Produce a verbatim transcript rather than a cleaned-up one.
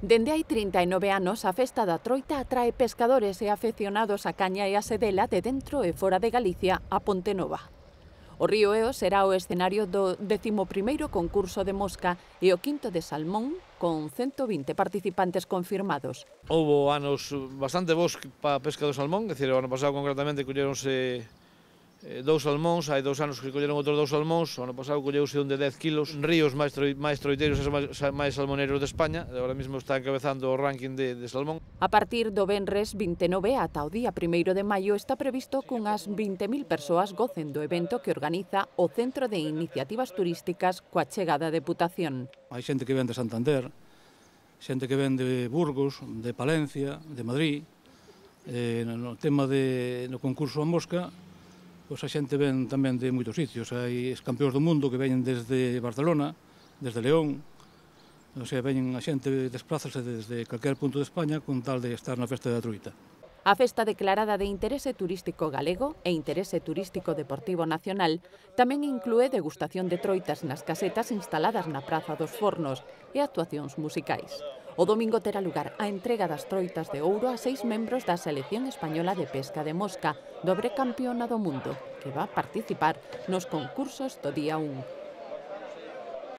Dende hai trinta e nove anos, a Festa da Troita atrae pescadores e afeccionados á caña e á sedela de dentro e fora de Galicia a Pontenova. O río Eo será o escenario do décimo primeiro concurso de mosca e o quinto de salmón, con cento vinte participantes confirmados. Houbo anos bastante bons para a pesca do salmón, é dicir, o ano pasado concretamente colleronse dous salmóns, hai dous anos que colleron outros dous salmóns, o ano pasado colleuse un de dez kilos, ríos máis, troi, máis troiteiros e máis, máis salmoneros de España, agora mesmo está encabezando o ranking de, de salmón. A partir do venres vinte e nove ata o día primeiro de maio está previsto que unhas vinte mil persoas gocen do evento que organiza o Centro de Iniciativas Turísticas coa chegada de Deputación. Hai xente que ven de Santander, xente que ven de Burgos, de Palencia, de Madrid. Eh, no tema de, no concurso a mosca, pois a xente ven tamén de moitos sitios. Hai campeóns do mundo que veñen desde Barcelona, desde León. O sea, veñen a xente, desplázase desde calquer punto de España con tal de estar na Festa da Troita. A festa declarada de interese turístico galego e interese turístico deportivo nacional tamén inclúe degustación de troitas nas casetas instaladas na Praza dos Fornos e actuacións musicais. O domingo terá lugar a entrega das troitas de ouro a seis membros da Selección Española de Pesca de Mosca, dobre campeona do mundo, que va participar nos concursos do día un.